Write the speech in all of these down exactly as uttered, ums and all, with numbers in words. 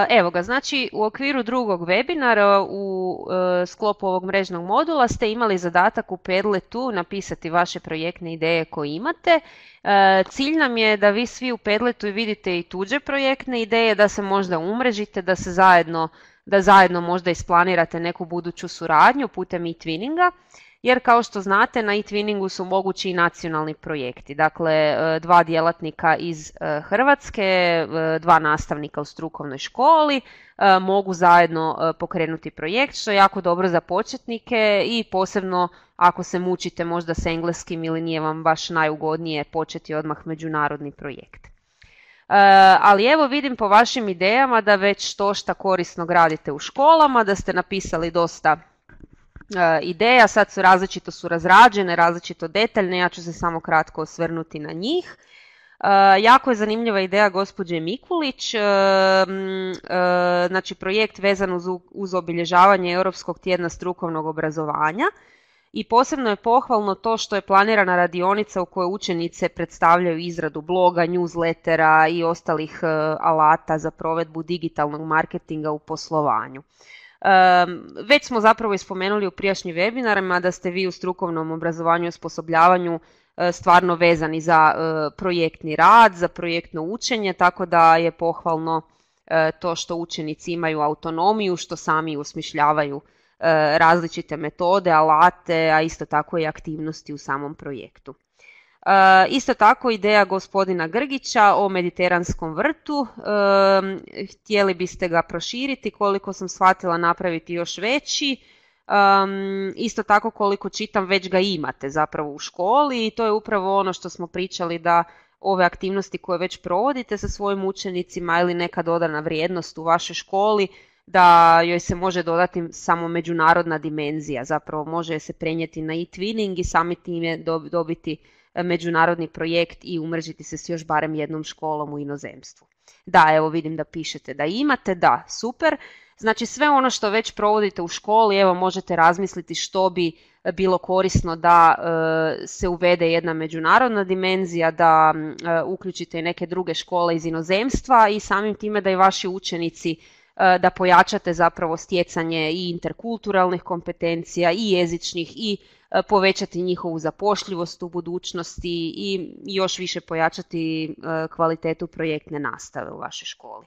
Evo ga, znači u okviru drugog webinara u e, sklopu ovog mrežnog modula ste imali zadatak u Padletu napisati vaše projektne ideje koje imate. E, cilj nam je da vi svi u Padletu vidite i tuđe projektne ideje, da se možda umrežite, da se zajedno, da zajedno možda isplanirate neku buduću suradnju putem e-twinninga. Jer kao što znate na e-twinningu su mogući i nacionalni projekti. Dakle, dva djelatnika iz Hrvatske, dva nastavnika u strukovnoj školi mogu zajedno pokrenuti projekt, što je jako dobro za početnike i posebno ako se mučite možda s engleskim ili nije vam baš najugodnije početi odmah međunarodni projekt. Ali evo vidim po vašim idejama da već to šta korisno gradite u školama, da ste napisali dosta ideja, sad su različito su razrađene, različito detaljne, ja ću se samo kratko osvrnuti na njih. Jako je zanimljiva ideja gospođe Mikulić, znači projekt vezan uz, uz obilježavanje Europskog tjedna strukovnog obrazovanja i posebno je pohvalno to što je planirana radionica u kojoj učenice predstavljaju izradu bloga, newslettera i ostalih alata za provedbu digitalnog marketinga u poslovanju. Um, već smo zapravo ispomenuli u prijašnjim webinarima da ste vi u strukovnom obrazovanju i osposobljavanju uh, stvarno vezani za uh, projektni rad, za projektno učenje, tako da je pohvalno uh, to što učenici imaju autonomiju, što sami usmišljavaju uh, različite metode, alate, a isto tako i aktivnosti u samom projektu. Uh, isto tako ideja gospodina Grgića o mediteranskom vrtu, uh, htjeli biste ga proširiti, koliko sam shvatila napraviti još veći, um, isto tako koliko čitam već ga imate zapravo u školi i to je upravo ono što smo pričali da ove aktivnosti koje već provodite sa svojim učenicima ili neka dodana vrijednost u vašoj školi, da joj se može dodati samo međunarodna dimenzija, zapravo može se prenijeti na e-twinning i sami time dobiti međunarodni projekt i umrežiti se s još barem jednom školom u inozemstvu. Da, evo vidim da pišete da imate, da, super. Znači sve ono što već provodite u školi, evo možete razmisliti što bi bilo korisno da e, se uvede jedna međunarodna dimenzija, da e, uključite i neke druge škole iz inozemstva i samim time da i vaši učenici e, da pojačate zapravo stjecanje i interkulturalnih kompetencija i jezičnih i povećati njihovu zapošljivost u budućnosti i još više pojačati kvalitetu projektne nastave u vašoj školi.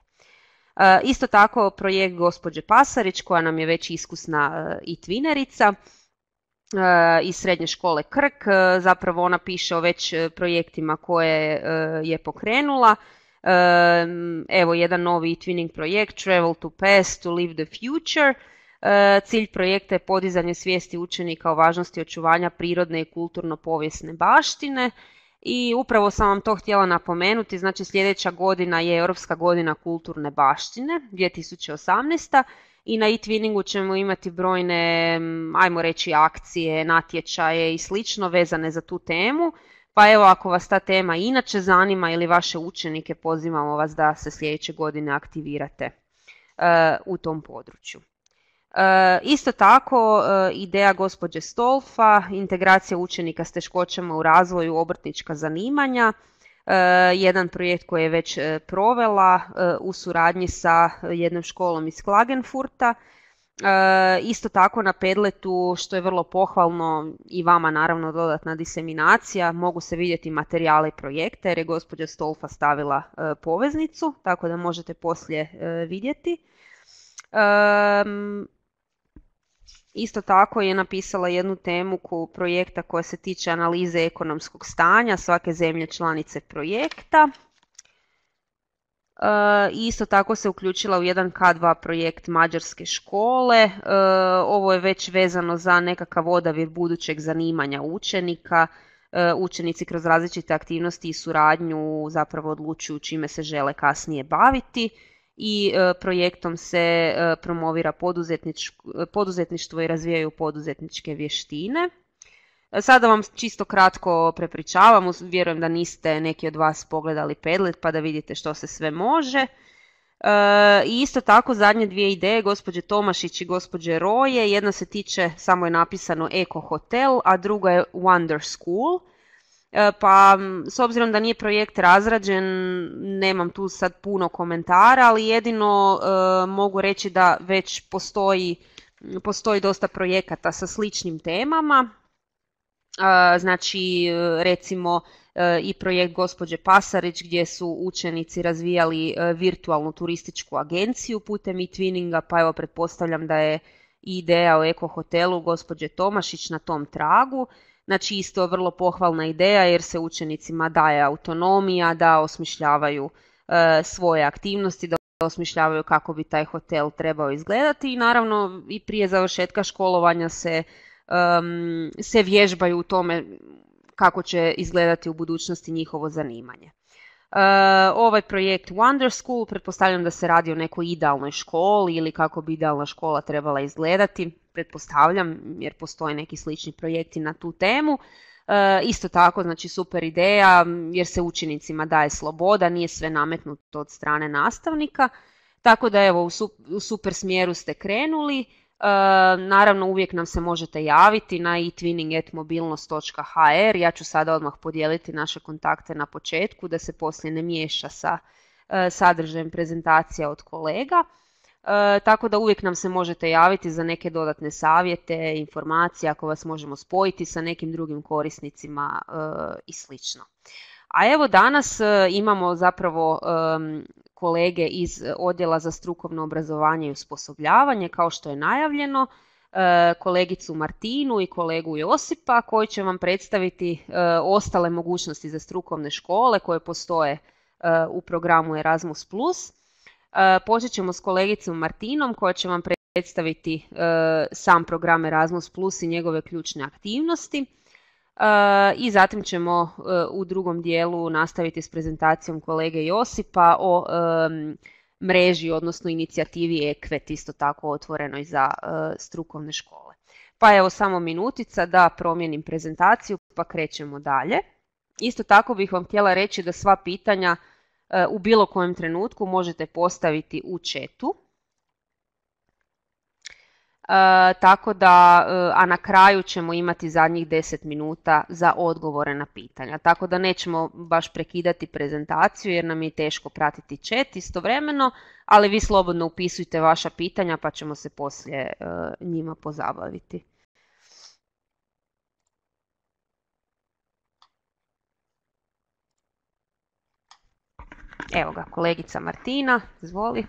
Isto tako projekt gospođe Pasarić koja nam je već iskusna e-twinerica iz srednje škole Krk, zapravo ona piše o već projektima koje je pokrenula. Evo jedan novi e-twinning projekt Travel to Past to Live the Future. Cilj projekta je podizanje svijesti učenika o važnosti očuvanja prirodne i kulturno-povijesne baštine i upravo sam vam to htjela napomenuti, znači sljedeća godina je Europska godina kulturne baštine, dvije tisuće osamnaesta. I na e-twinningu ćemo imati brojne, ajmo reći, akcije, natječaje i slično vezane za tu temu, pa evo ako vas ta tema inače zanima ili vaše učenike, pozivamo vas da se sljedeće godine aktivirate uh, u tom području. Uh, isto tako uh, ideja gospođe Stolfa, integracija učenika s teškoćama u razvoju, obrtnička zanimanja, uh, jedan projekt koji je već uh, provela uh, u suradnji sa jednom školom iz Klagenfurta. Uh, isto tako na Padletu, što je vrlo pohvalno i vama naravno dodatna diseminacija, mogu se vidjeti materijale i projekte jer je gospođa Stolfa stavila uh, poveznicu, tako da možete poslije uh, vidjeti. Um, Isto tako je napisala jednu temu projekta koja se tiče analize ekonomskog stanja svake zemlje članice projekta. E, isto tako se uključila u jedan ka dva projekt mađarske škole. E, ovo je već vezano za nekakav odabir budućeg zanimanja učenika. E, učenici kroz različite aktivnosti i suradnju zapravo odlučuju čime se žele kasnije baviti. I e, projektom se e, promovira poduzetništvo i razvijaju poduzetničke vještine. E, sada vam čisto kratko prepričavam, vjerujem da niste neki od vas pogledali Padlet pa da vidite što se sve može. E, I isto tako zadnje dvije ideje, gospođe Tomašić i gospođe Roje, jedna se tiče, samo je napisano Eko Hotel, a druga je Wonder School. Pa s obzirom da nije projekt razrađen, nemam tu sad puno komentara, ali jedino e, mogu reći da već postoji, postoji dosta projekata sa sličnim temama. E, znači recimo e, i projekt gospođe Pasarić gdje su učenici razvijali e, virtualnu turističku agenciju putem e-twinninga, pa evo pretpostavljam da je ideja o eko hotelu gospođe Tomašić na tom tragu. Znači isto vrlo pohvalna ideja jer se učenicima daje autonomija da osmišljavaju e, svoje aktivnosti, da osmišljavaju kako bi taj hotel trebao izgledati i naravno i prije završetka školovanja se, um, se vježbaju u tome kako će izgledati u budućnosti njihovo zanimanje. Uh, ovaj projekt Wonder School, pretpostavljam da se radi o nekoj idealnoj školi ili kako bi idealna škola trebala izgledati, pretpostavljam jer postoje neki slični projekti na tu temu. Uh, isto tako, znači super ideja jer se učenicima daje sloboda, nije sve nametnuto od strane nastavnika, tako da evo u super smjeru ste krenuli. Uh, naravno uvijek nam se možete javiti na e twinning at mobilnost dot h r. Ja ću sada odmah podijeliti naše kontakte na početku da se poslije ne miješa sa uh, sadržajem prezentacija od kolega. Uh, tako da uvijek nam se možete javiti za neke dodatne savjete, informacije ako vas možemo spojiti sa nekim drugim korisnicima uh, i slično. A evo danas uh, imamo zapravo um, kolege iz Odjela za strukovno obrazovanje i osposobljavanje, kao što je najavljeno, kolegicu Martinu i kolegu Josipa koji će vam predstaviti ostale mogućnosti za strukovne škole koje postoje u programu Erasmus plus. Počet ćemo s kolegicom Martinom koja će vam predstaviti sam program Erasmus plus i njegove ključne aktivnosti. I zatim ćemo u drugom dijelu nastaviti s prezentacijom kolege Josipa o um, mreži, odnosno inicijativi EQUET, isto tako otvorenoj za uh, strukovne škole. Pa evo samo minutica da promijenim prezentaciju pa krećemo dalje. Isto tako bih vam htjela reći da sva pitanja uh, u bilo kojem trenutku možete postaviti u chatu. Uh, tako da, uh, a na kraju ćemo imati zadnjih deset minuta za odgovore na pitanja. Tako da nećemo baš prekidati prezentaciju jer nam je teško pratiti chat istovremeno, ali vi slobodno upisujte vaša pitanja pa ćemo se poslije uh, njima pozabaviti. Evo ga, kolegica Martina, izvoli.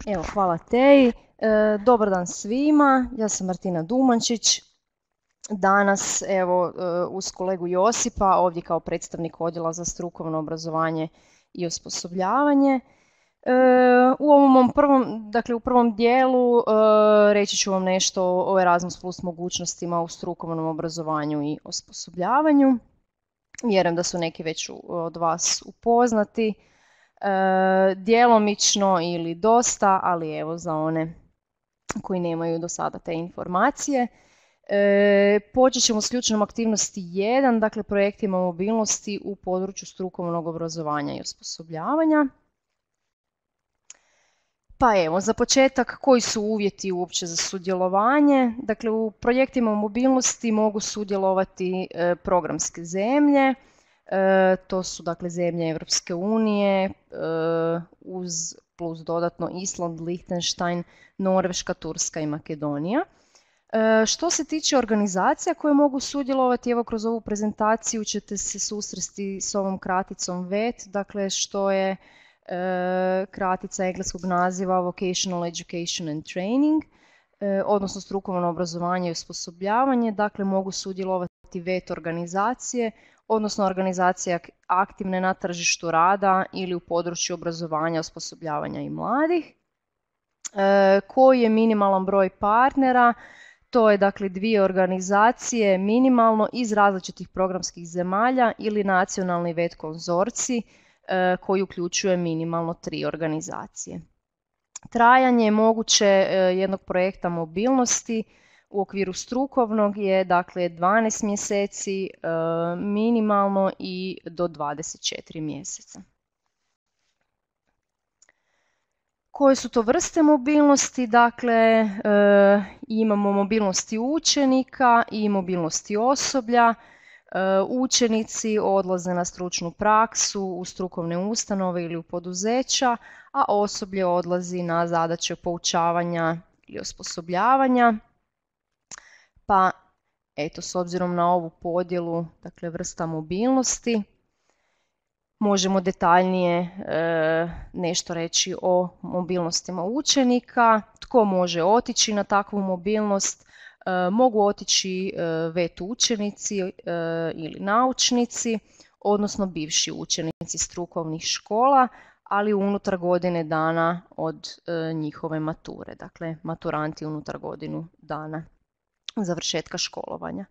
Evo, hvala Teji. E, dobar dan svima, ja sam Martina Dumančić. Danas, evo, uz kolegu Josipa, ovdje kao predstavnik Odjela za strukovno obrazovanje i osposobljavanje. E, u ovom mom prvom, dakle u prvom dijelu e, reći ću vam nešto o Erasmus plus mogućnostima u strukovnom obrazovanju i osposobljavanju. Vjerujem da su neki već od vas upoznati. E, djelomično ili dosta, ali evo za one koji nemaju do sada te informacije. E, počet ćemo s ključnom aktivnosti jedan, dakle projektima mobilnosti u području strukovnog obrazovanja i osposobljavanja. Pa evo, za početak, koji su uvjeti uopće za sudjelovanje? Dakle, u projektima mobilnosti mogu sudjelovati e, programske zemlje. E, to su dakle zemlje Europske unije, e, uz plus dodatno Island, Liechtenstein, Norveška, Turska i Makedonija. E, što se tiče organizacija koje mogu sudjelovati, evo kroz ovu prezentaciju ćete se susresti s ovom kraticom V E T, dakle što je e, kratica engleskog naziva Vocational Education and Training, e, odnosno strukovno obrazovanje i osposobljavanje, dakle mogu sudjelovati V E T organizacije, odnosno organizacije aktivne na tržištu rada ili u području obrazovanja, osposobljavanja i mladih. E, koji je minimalan broj partnera? To je dakle dvije organizacije minimalno iz različitih programskih zemalja ili nacionalni V E T konzorcij e, koji uključuje minimalno tri organizacije. Trajanje je moguće e, jednog projekta mobilnosti u okviru strukovnog je dakle dvanaest mjeseci e, minimalno i do dvadeset četiri mjeseca. Koje su to vrste mobilnosti? Dakle, e, imamo mobilnosti učenika i mobilnosti osoblja. E, učenici odlaze na stručnu praksu u strukovne ustanove ili u poduzeća, a osoblje odlazi na zadaće poučavanja ili osposobljavanja. Pa eto, s obzirom na ovu podjelu, dakle vrsta mobilnosti, možemo detaljnije e, nešto reći o mobilnostima učenika, tko može otići na takvu mobilnost. E, mogu otići e, vet učenici e, ili naučnici, odnosno bivši učenici strukovnih škola, ali unutar godine dana od e, njihove mature, dakle maturanti unutar godinu dana završetka školovanja.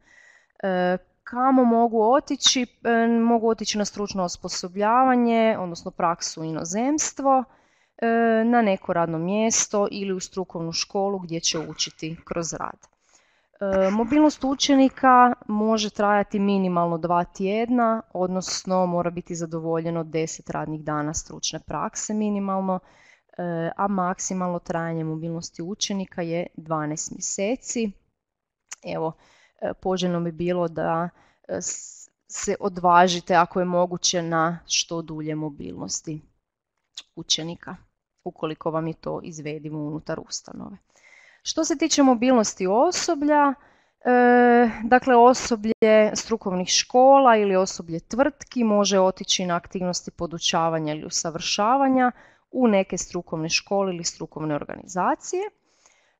E, Kamo mogu otići? E, mogu otići na stručno osposobljavanje, odnosno praksu u inozemstvo, e, na neko radno mjesto ili u strukovnu školu gdje će učiti kroz rad. E, mobilnost učenika može trajati minimalno dva tjedna, odnosno mora biti zadovoljeno deset radnih dana stručne prakse minimalno, e, a maksimalno trajanje mobilnosti učenika je dvanaest mjeseci. Evo, poželjno bi bilo da se odvažite ako je moguće na što dulje mobilnosti učenika, ukoliko vam je to izvedivo unutar ustanove. Što se tiče mobilnosti osoblja, e, dakle osoblje strukovnih škola ili osoblje tvrtki može otići na aktivnosti podučavanja ili usavršavanja u neke strukovne škole ili strukovne organizacije,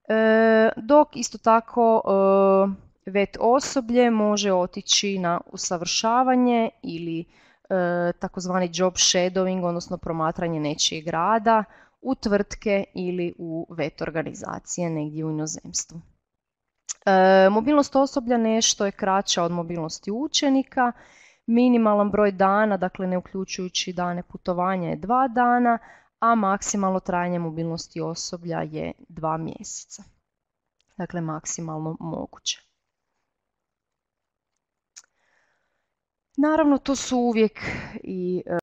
e, dok isto tako e, vet osoblje može otići na usavršavanje ili e, takozvani job shadowing, odnosno promatranje nečijeg rada u tvrtke ili u vet organizacije negdje u inozemstvu. E, mobilnost osoblja nešto je kraća od mobilnosti učenika. Minimalan broj dana, dakle ne uključujući dane putovanja, je dva dana, a maksimalno trajanje mobilnosti osoblja je dva mjeseca. Dakle, maksimalno moguće. Naravno, to su uvijek i e,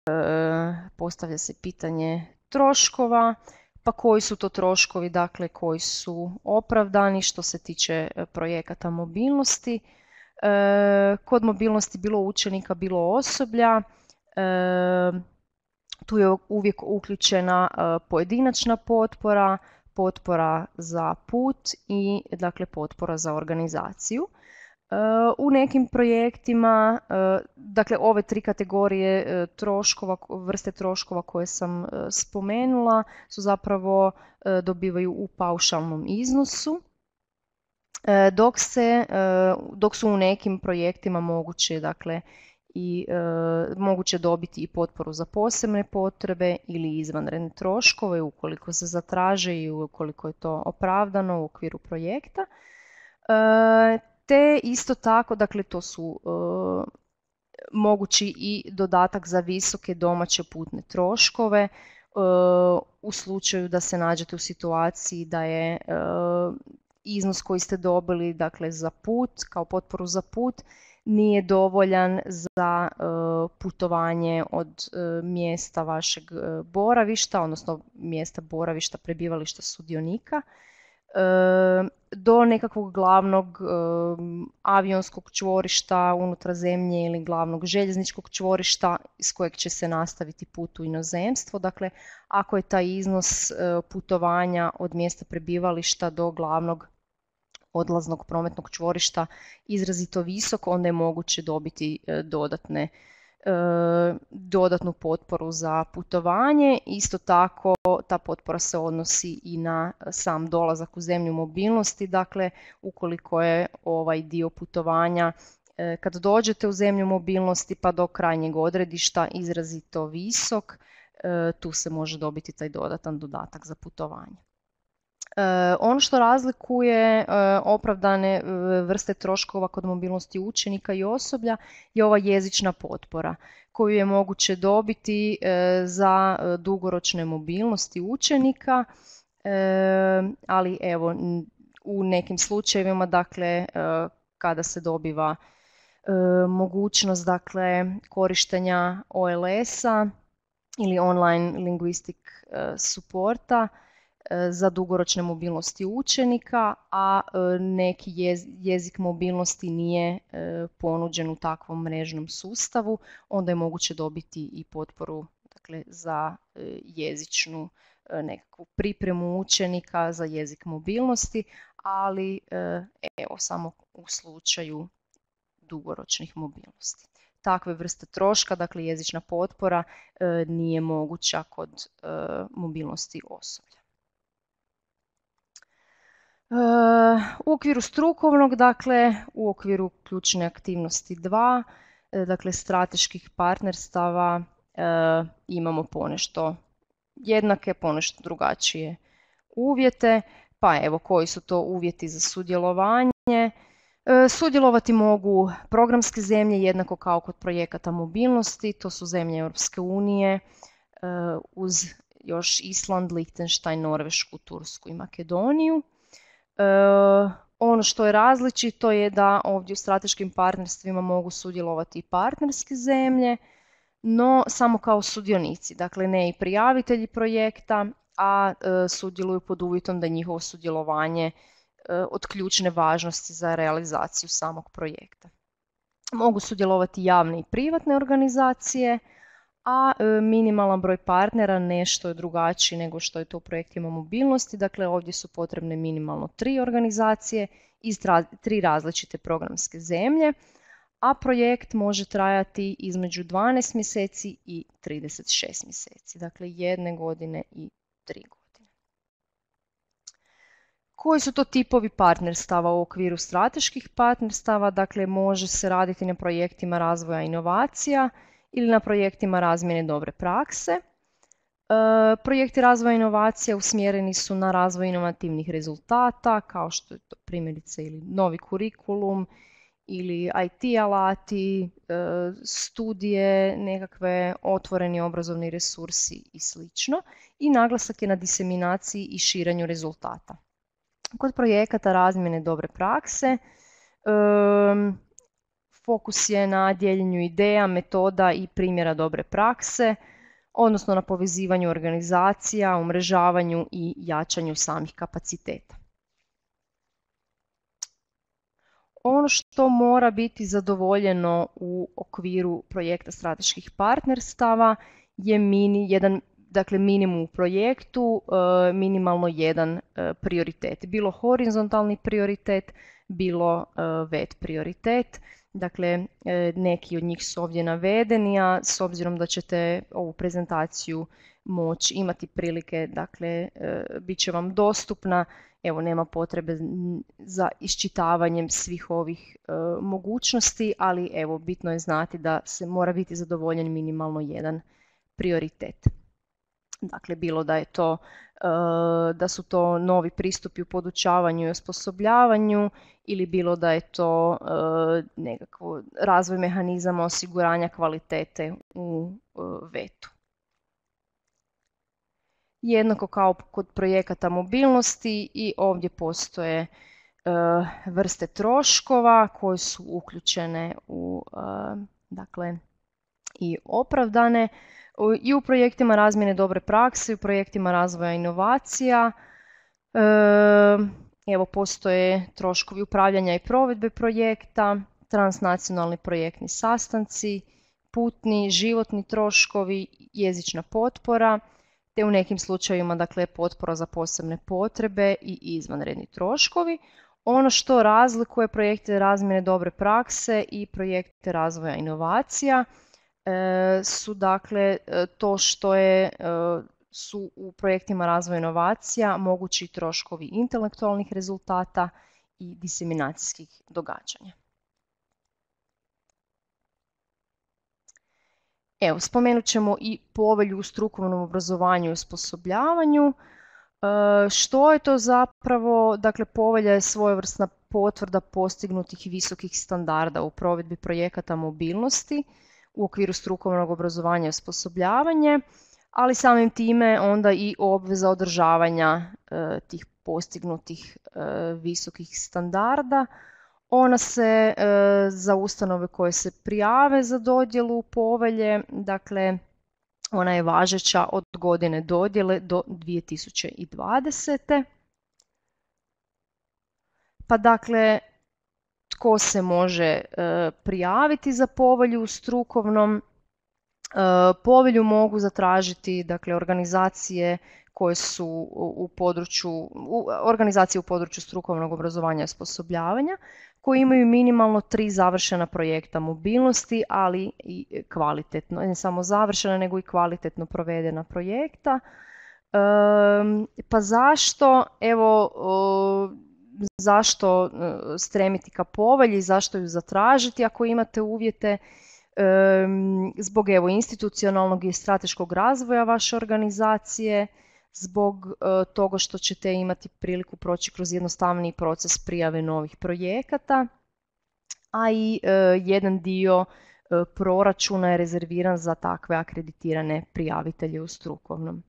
postavlja se pitanje troškova, pa koji su to troškovi, dakle koji su opravdani što se tiče projekata mobilnosti. E, kod mobilnosti bilo učenika, bilo osoblja, e, tu je uvijek uključena e, pojedinačna potpora, potpora za put i dakle potpora za organizaciju. U nekim projektima, dakle ove tri kategorije troškova, vrste troškova koje sam spomenula su zapravo dobivaju u paušalnom iznosu, dok, se, dok su u nekim projektima moguće, dakle, i moguće dobiti i potporu za posebne potrebe ili izvanredne troškove ukoliko se zatraže i ukoliko je to opravdano u okviru projekta. Te isto tako, dakle to su e, mogući i dodatak za visoke domaće putne troškove e, u slučaju da se nađete u situaciji da je e, iznos koji ste dobili, dakle za put, kao potporu za put, nije dovoljan za e, putovanje od e, mjesta vašeg boravišta, odnosno mjesta boravišta prebivališta sudionika, do nekakvog glavnog avionskog čvorišta unutar zemlje ili glavnog željezničkog čvorišta iz kojeg će se nastaviti put u inozemstvo. Dakle, ako je taj iznos putovanja od mjesta prebivališta do glavnog odlaznog prometnog čvorišta izrazito visok, onda je moguće dobiti dodatne dodatnu potporu za putovanje. Isto tako ta potpora se odnosi i na sam dolazak u zemlju mobilnosti, dakle ukoliko je ovaj dio putovanja kad dođete u zemlju mobilnosti pa do krajnjeg odredišta izrazito visok, tu se može dobiti taj dodatan dodatak za putovanje. Ono što razlikuje opravdane vrste troškova kod mobilnosti učenika i osoblja je ova jezična potpora koju je moguće dobiti za dugoročne mobilnosti učenika, ali evo u nekim slučajevima, dakle kada se dobiva mogućnost, dakle korištenja O L S-a ili online linguistic supporta, za dugoročne mobilnosti učenika, a neki jezik mobilnosti nije ponuđen u takvom mrežnom sustavu, onda je moguće dobiti i potporu, dakle, za jezičnu nekakvu pripremu učenika za jezik mobilnosti, ali evo samo u slučaju dugoročnih mobilnosti. Takve vrste troška, dakle jezična potpora, nije moguća kod mobilnosti osoblja. U okviru strukovnog, dakle u okviru ključne aktivnosti dva, dakle strateških partnerstava, imamo ponešto jednake, ponešto drugačije uvjete. Pa evo, koji su to uvjeti za sudjelovanje? Sudjelovati mogu programske zemlje jednako kao kod projekata mobilnosti, to su zemlje Europske unije uz još Island, Lichtenstein, Norvešku, Tursku i Makedoniju. Ono što je različito je da ovdje u strateškim partnerstvima mogu sudjelovati i partnerske zemlje, no samo kao sudionici, dakle ne i prijavitelji projekta, a sudjeluju pod uvjetom da je njihovo sudjelovanje od ključne važnosti za realizaciju samog projekta. Mogu sudjelovati javne i privatne organizacije, a minimalan broj partnera nešto je drugačiji nego što je to u projektima mobilnosti. Dakle, ovdje su potrebne minimalno tri organizacije iz tri različite programske zemlje, a projekt može trajati između dvanaest mjeseci i trideset šest mjeseci, dakle jedne godine i tri godine. Koji su to tipovi partnerstava u okviru strateških partnerstava? Dakle, može se raditi na projektima razvoja inovacija ili na projektima razmjene dobre prakse. E, projekti razvoja inovacija usmjereni su na razvoj inovativnih rezultata, kao što je to primjerice ili novi kurikulum, ili I T alati, e, studije, nekakve otvoreni obrazovni resursi i sl. I naglasak je na diseminaciji i širenju rezultata. Kod projekata razmjene dobre prakse, um, fokus je na dijeljenju ideja, metoda i primjera dobre prakse, odnosno na povezivanju organizacija, umrežavanju i jačanju samih kapaciteta. Ono što mora biti zadovoljeno u okviru projekta strateških partnerstava je mini, jedan dakle minimum u projektu, minimalno jedan prioritet. Bilo horizontalni prioritet, bilo vet prioritet. Dakle, neki od njih su ovdje navedeni, a s obzirom da ćete ovu prezentaciju moći imati prilike, dakle, bit će vam dostupna, evo nema potrebe za iščitavanjem svih ovih mogućnosti, ali evo bitno je znati da se mora biti zadovoljen minimalno jedan prioritet. Dakle, bilo da je to, da su to novi pristupi u podučavanju i osposobljavanju ili bilo da je to nekako razvoj mehanizama osiguranja kvalitete u vetu. Jednako kao kod projekata mobilnosti i ovdje postoje vrste troškova koje su uključene u, dakle, i opravdane. I u projektima razmjene dobre prakse, i u projektima razvoja inovacija. Evo, postoje troškovi upravljanja i provedbe projekta, transnacionalni projektni sastanci, putni, životni troškovi, jezična potpora, te u nekim slučajevima, dakle, potpora za posebne potrebe i izvanredni troškovi. Ono što razlikuje projekte razmjene dobre prakse i projekte razvoja inovacija su, dakle, to što je, su u projektima razvoja inovacija mogući troškovi intelektualnih rezultata i diseminacijskih događanja. Evo, spomenut ćemo i povelju u strukovnom obrazovanju i osposobljavanju. Što je to zapravo? Dakle, povelja je svojevrsna potvrda postignutih visokih standarda u provedbi projekata mobilnosti u okviru strukovnog obrazovanja i osposobljavanja, ali samim time onda i obveza održavanja e, tih postignutih e, visokih standarda. Ona se e, za ustanove koje se prijave za dodjelu povelje, dakle ona je važeća od godine dodjele do dvije tisuće dvadesete. Pa dakle, tko se može e, prijaviti za povelju u strukovnom? E, povelju mogu zatražiti dakle, organizacije koje su u, u području, u, organizacije u području strukovnog obrazovanja i osposobljavanja, koji imaju minimalno tri završena projekta mobilnosti, ali i kvalitetno, ne samo završena, nego i kvalitetno provedena projekta. E, pa zašto, evo, o, zašto stremiti ka povelji, zašto ju zatražiti ako imate uvjete? Zbog evo institucionalnog i strateškog razvoja vaše organizacije, zbog toga što ćete imati priliku proći kroz jednostavniji proces prijave novih projekata, a i jedan dio proračuna je rezerviran za takve akreditirane prijavitelje u strukovnom.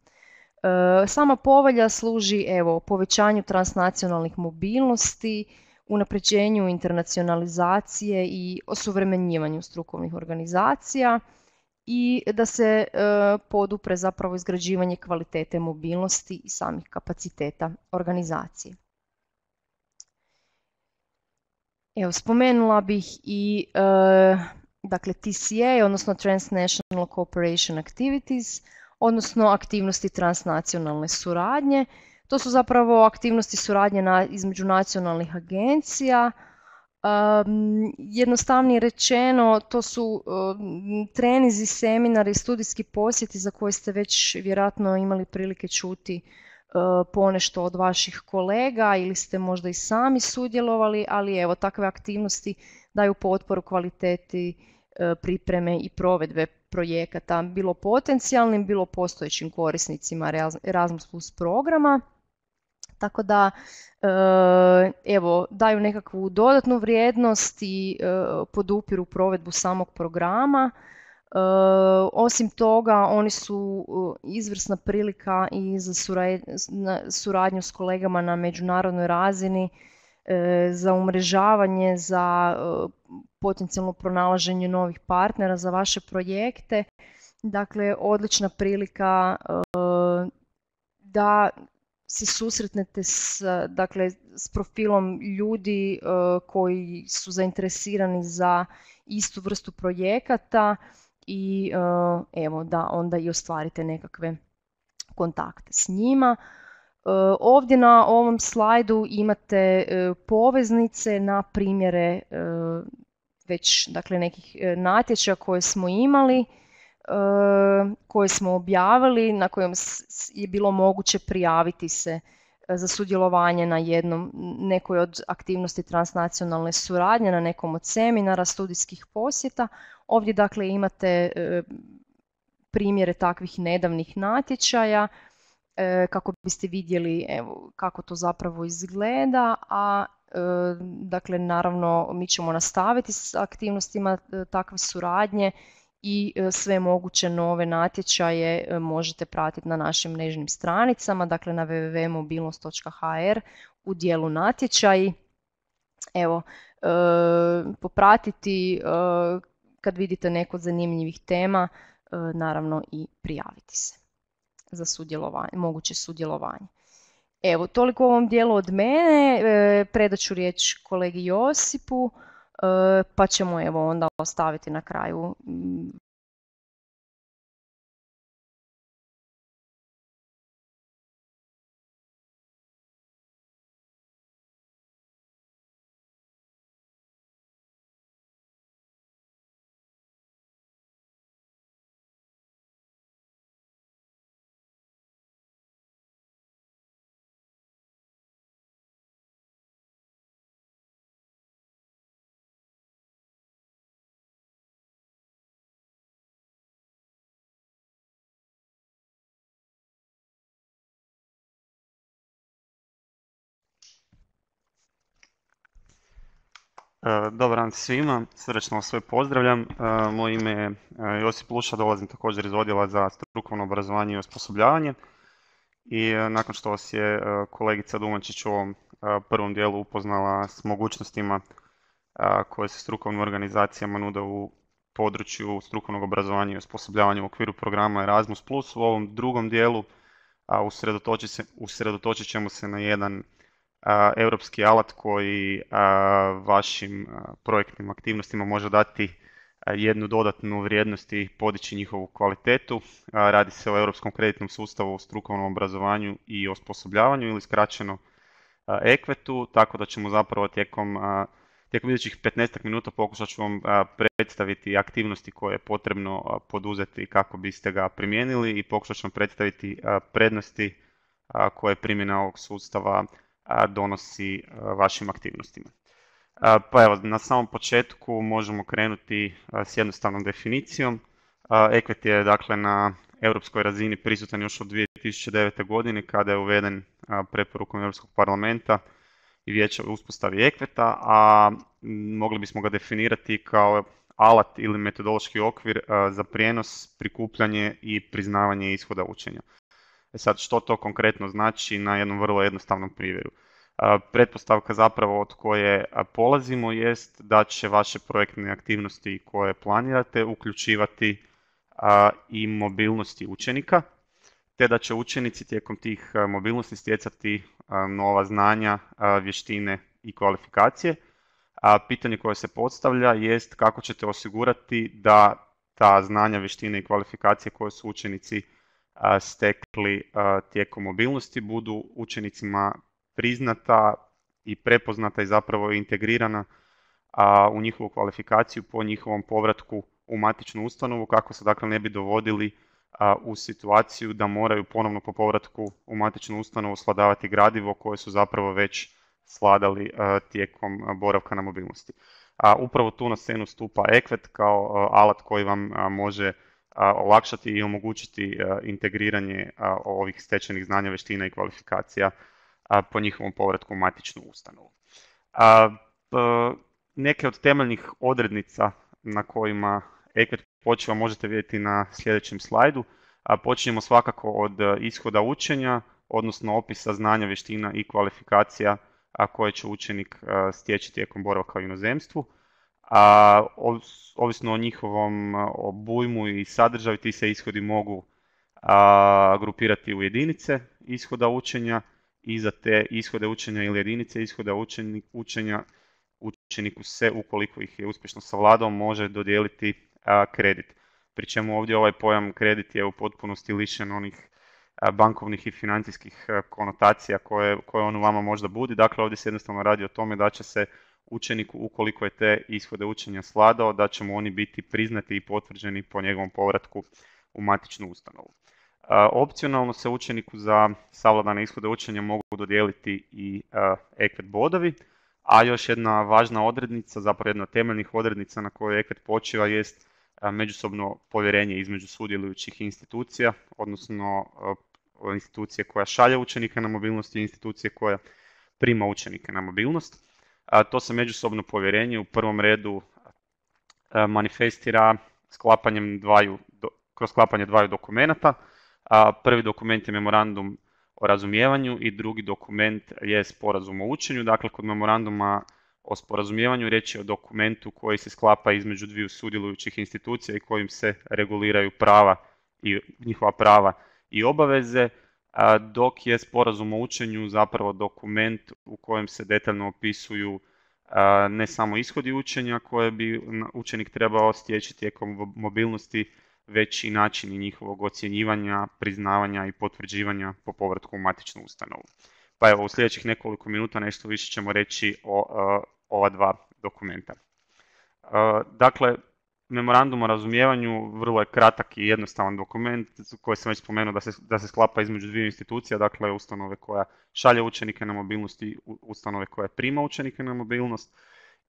Sama povelja služi evo povećanju transnacionalnih mobilnosti, unapređenju internacionalizacije i osuvremenjivanju strukovnih organizacija i da se e, podupre zapravo izgrađivanje kvalitete mobilnosti i samih kapaciteta organizacije. Evo, spomenula bih i e, dakle T C A, odnosno Transnational Cooperation Activities, odnosno aktivnosti transnacionalne suradnje. To su zapravo aktivnosti suradnje na, između nacionalnih agencija. Um, jednostavnije rečeno, to su um, trenizi, seminari, studijski posjeti za koje ste već vjerojatno imali prilike čuti uh, ponešto od vaših kolega ili ste možda i sami sudjelovali, ali evo takve aktivnosti daju potporu kvaliteti uh, pripreme i provedbe projekata, bilo potencijalnim, bilo postojećim korisnicima Erasmus plus programa. Tako da, evo, daju nekakvu dodatnu vrijednost i podupiru provedbu samog programa. Osim toga, oni su izvrsna prilika i za suradnju s kolegama na međunarodnoj razini, za umrežavanje, za potencijalno pronalaženje novih partnera za vaše projekte. Dakle, odlična prilika da se susretnete s, dakle, s profilom ljudi uh, koji su zainteresirani za istu vrstu projekata i uh, evo da onda i ostvarite nekakve kontakte s njima. Uh, ovdje na ovom slajdu imate uh, poveznice na primjere uh, već dakle, nekih uh, natječaja koje smo imali, koje smo objavili, na kojem je bilo moguće prijaviti se za sudjelovanje na jednom, nekoj od aktivnosti transnacionalne suradnje, na nekom od seminara, studijskih posjeta. Ovdje dakle imate primjere takvih nedavnih natječaja kako biste vidjeli evo, kako to zapravo izgleda, a dakle naravno mi ćemo nastaviti s aktivnostima takve suradnje i sve moguće nove natječaje možete pratiti na našim mrežnim stranicama, dakle na w w w točka mobilnost točka h r u dijelu natječaji. Evo, e, popratiti e, kad vidite neko od zanimljivih tema, e, naravno i prijaviti se za sudjelovanje, moguće sudjelovanje. Evo, toliko u ovom dijelu od mene, e, predat ću riječ kolegi Josipu, pa ćemo evo onda ostaviti na kraju Dobar dan svima, srdačno vas sve pozdravljam. Moje ime je Josip Luša, dolazim također iz odjela za strukovno obrazovanje i osposobljavanje. I nakon što vas je kolegica Dumančić u ovom prvom dijelu upoznala s mogućnostima koje se strukovnim organizacijama nude u području strukovnog obrazovanja i osposobljavanja u okviru programa Erasmus plus. U ovom drugom dijelu a, usredotočit, se, usredotočit ćemo se na jedan a, europski alat koji a, vašim a, projektnim aktivnostima može dati a, jednu dodatnu vrijednost i podići njihovu kvalitetu. A, radi se o Europskom kreditnom sustavu u strukovnom obrazovanju i osposobljavanju ili skraćeno ekvetu, tako da ćemo zapravo tijekom, tijekom idućih petnaest minuta pokušat ću vam predstaviti aktivnosti koje je potrebno poduzeti kako biste ga primijenili i pokušat ću vam predstaviti prednosti koje primjena ovog sustava donosi vašim aktivnostima. Pa evo, na samom početku možemo krenuti s jednostavnom definicijom. Ekvet je dakle na europskoj razini prisutan još od dvije tisuće devete. godine kada je uveden preporukom Europskog parlamenta i vijeća u uspostavi ekveta, a mogli bismo ga definirati kao alat ili metodološki okvir za prijenos, prikupljanje i priznavanje ishoda učenja. E sad, što to konkretno znači na jednom vrlo jednostavnom primjeru? Pretpostavka zapravo od koje polazimo jest da će vaše projektne aktivnosti koje planirate uključivati i mobilnosti učenika, te da će učenici tijekom tih mobilnosti stjecati nova znanja, vještine i kvalifikacije. A pitanje koje se postavlja jest kako ćete osigurati da ta znanja, vještine i kvalifikacije koje su učenici stekli tijekom mobilnosti budu učenicima priznata i prepoznata i zapravo integrirana u njihovu kvalifikaciju po njihovom povratku u matičnu ustanovu, kako se dakle ne bi dovodili a, u situaciju da moraju ponovno po povratku u matičnu ustanovu svladavati gradivo koje su zapravo već svladali a, tijekom boravka na mobilnosti. A, upravo tu na scenu stupa ekvet kao a, alat koji vam a, može a, olakšati i omogućiti a, integriranje a, ovih stečenih znanja, vještina i kvalifikacija a, po njihovom povratku u matičnu ustanovu. A, a, neke od temeljnih odrednica na kojima ekvet počiva možete vidjeti na sljedećem slajdu. A počinjemo svakako od ishoda učenja, odnosno opisa znanja, vještina i kvalifikacija a koje će učenik a, stječi tijekom boravka u inozemstvu. A, ovisno o njihovom obujmu i sadržaju, ti se ishodi mogu a, grupirati u jedinice ishoda učenja i za te ishode učenja ili jedinice ishoda učenja, učenja učeniku se, ukoliko ih je uspješno savladao, može dodijeliti a, kredit. Pri čemu ovdje ovaj pojam kredit je u potpunosti lišen onih a, bankovnih i financijskih a, konotacija koje, koje on u vama možda budi. Dakle, ovdje se jednostavno radi o tome da će se učeniku, ukoliko je te ishode učenja svladao, da će mu oni biti priznati i potvrđeni po njegovom povratku u matičnu ustanovu. A, opcionalno se učeniku za savladane ishode učenja mogu dodijeliti i ekvet bodovi. A još jedna važna odrednica, zapravo jedna od temeljnih odrednica na kojoj ekvet počiva jest međusobno povjerenje između sudjelujućih institucija, odnosno institucije koja šalje učenike na mobilnost i institucije koja prima učenike na mobilnost. To se međusobno povjerenje u prvom redu manifestira sklapanjem dvaju, kroz sklapanje dvaju dokumenata. Prvi dokument je memorandum o razumijevanju i drugi dokument je sporazum o učenju. Dakle, kod memoranduma o sporazumijevanju riječ je o dokumentu koji se sklapa između dviju sudjelujućih institucija i kojim se reguliraju prava i njihova prava i obaveze, dok je sporazum o učenju zapravo dokument u kojem se detaljno opisuju ne samo ishodi učenja koje bi učenik trebao stječi tijekom mobilnosti, već i načini njihovog ocjenjivanja, priznavanja i potvrđivanja po povratku u matičnu ustanovu. Pa evo, u sljedećih nekoliko minuta nešto više ćemo reći o uh, ova dva dokumenta. Uh, dakle, memorandum o razumijevanju vrlo je kratak i jednostavan dokument koji sam već spomenuo da se, da se sklapa između dvije institucija, dakle ustanove koja šalje učenike na mobilnost i ustanove koja prima učenike na mobilnost,